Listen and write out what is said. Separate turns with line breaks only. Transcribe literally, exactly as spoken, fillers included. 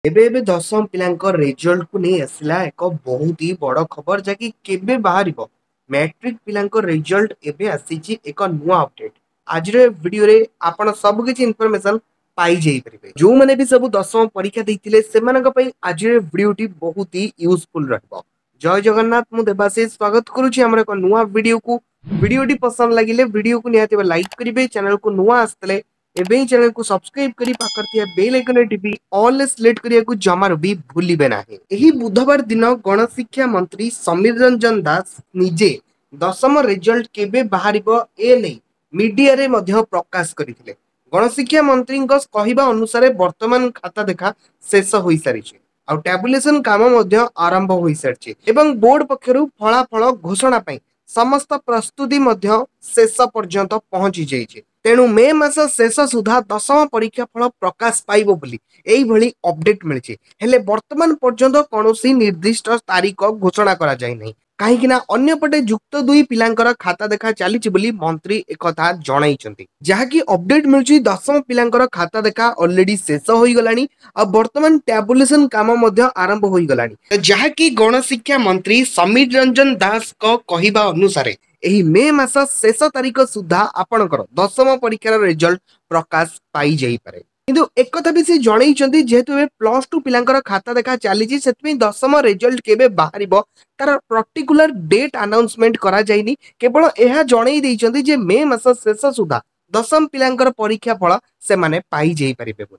ଏବେ ଏବେ ଦଶମ ପିଲାଙ୍କ ରେଜଲ୍ଟକୁ ନେଇ ଆସିଲା ଏକ ବହୁତ ହି ବଡ଼ ଖବର, ଯାହାକି କେବେ ବାହାରିବ ମ୍ୟାଟ୍ରିକ ପିଲାଙ୍କ ରେଜଲ୍ଟ, ଏବେ ଆସିଛି ଏକ ନୂଆ ଅପଡେଟ୍। ଆଜିର ଏ ଭିଡିଓରେ ଆପଣ ସବୁ କିଛି ଇନଫର୍ମେସନ ପାଇଯାଇପାରିବେ। ଯୋଉମାନେ ବି ସବୁ ଦଶମ ପରୀକ୍ଷା ଦେଇଥିଲେ, ସେମାନଙ୍କ ପାଇଁ ଆଜିର ଭିଡିଓଟି ବହୁତ ହି ୟୁଜଫୁଲ ରହିବ। ଜୟ ଜଗନ୍ନାଥ, ମୁଁ ଦେବାଶିଷ ସ୍ୱାଗତ କରୁଛି ଆମର ଏକ ନୂଆ ଭିଡିଓକୁ। ଭିଡିଓଟି ପସନ୍ଦ ଲାଗିଲେ ଭିଡିଓକୁ ନିହାତି ଲାଇକ୍ କରିବେ। ଚ୍ୟାନେଲକୁ ନୂଆ ଆସିଥିଲେ ଏବେ ହିଁ ଚ୍ୟାନେଲକୁ ସବସ୍କ୍ରାଇବ କରି ପାଖରେ ଥିବା ବେଲ୍ ଆଇକନରେ ଟିପି ଅଲ୍ ସିଲେକ୍ଟ କରିବାକୁ ଜମାରୁ ବି ଭୁଲିବେ ନାହିଁ। ଏହି ବୁଧବାର ଦିନ ଗଣଶିକ୍ଷା ମନ୍ତ୍ରୀ ସମୀର ରଞ୍ଜନ ଦାସ ନିଜେ ଦଶମ ରେଜଲ୍ଟ କେବେ ବାହାରିବ ଏ ନେଇ ମିଡିଆରେ ମଧ୍ୟ ପ୍ରକାଶ କରିଥିଲେ। ଗଣଶିକ୍ଷା ମନ୍ତ୍ରୀଙ୍କ କହିବା ଅନୁସାରେ ବର୍ତ୍ତମାନ ଖାତା ଦେଖା ଶେଷ ହୋଇସାରିଛି ଆଉ ଟ୍ୟାବୁଲେସନ କାମ ମଧ୍ୟ ଆରମ୍ଭ ହୋଇସାରିଛି ଏବଂ ବୋର୍ଡ ପକ୍ଷରୁ ଫଳାଫଳ ଘୋଷଣା ପାଇଁ ସମସ୍ତ ପ୍ରସ୍ତୁତି ମଧ୍ୟ ଶେଷ ପର୍ଯ୍ୟନ୍ତ ପହଞ୍ଚି ଯାଇଛି। ତେଣୁ ମେ ମାସ ଶେଷ ସୁଦ୍ଧା ଦଶମ ପରୀକ୍ଷା ଫଳ ପ୍ରକାଶ ପାଇବ ବୋଲି ଏଇଭଳି ଅପଡେଟ୍ ମିଳିଛି। ହେଲେ ବର୍ତ୍ତମାନ ପର୍ଯ୍ୟନ୍ତ କୌଣସି ନିର୍ଦ୍ଦିଷ୍ଟ ତାରିଖ ଘୋଷଣା କରାଯାଇ ନାହିଁ, କାହିଁକି ନା ଅନ୍ୟପଟେ ଯୁକ୍ତ ଦୁଇ ପିଲାଙ୍କର ଖାତା ଦେଖା ଚାଲିଛି ବୋଲି ମନ୍ତ୍ରୀ ଏକଥା ଜଣାଇଛନ୍ତି। ଯାହାକି ଅପଡେଟ୍ ମିଳୁଛି, ଦଶମ ପିଲାଙ୍କର ଖାତା ଦେଖା ଅଲରେଡି ଶେଷ ହୋଇଗଲାଣି ଆଉ ବର୍ତ୍ତମାନ ଟ୍ୟାବୁଲେସନ କାମ ମଧ୍ୟ ଆରମ୍ଭ ହୋଇଗଲାଣି। ଯାହାକି ଗଣଶିକ୍ଷା ମନ୍ତ୍ରୀ ସମୀର ରଞ୍ଜନ ଦାସଙ୍କ କହିବା ଅନୁସାରେ ଏହି ମେ ମାସ ଶେଷ ତାରିଖ ସୁଦ୍ଧା ଆପଣଙ୍କର ଦଶମ ପରୀକ୍ଷାର ରେଜଲ୍ଟ ପ୍ରକାଶ ପାଇଯାଇପାରେ। କିନ୍ତୁ ଏକଥା ବି ସେ ଜଣେଇଛନ୍ତି, ଯେହେତୁ ଏବେ ପ୍ଲସ ଟୁ ପିଲାଙ୍କର ଖାତା ଦେଖା ଚାଲିଛି, ସେଥିପାଇଁ ଦଶମ ରେଜଲ୍ଟ କେବେ ବାହାରିବ ତାର ପର୍ଟିକୁଲାର ଡେଟ୍ ଆନାଉନ୍ସମେଣ୍ଟ କରାଯାଇନି। କେବଳ ଏହା ଜଣେଇ ଦେଇଛନ୍ତି ଯେ ମେ ମାସ ଶେଷ ସୁଦ୍ଧା ଦଶମ ପିଲାଙ୍କର ପରୀକ୍ଷା ଫଳ ସେମାନେ ପାଇଯାଇପାରିବେ ବୋଲି।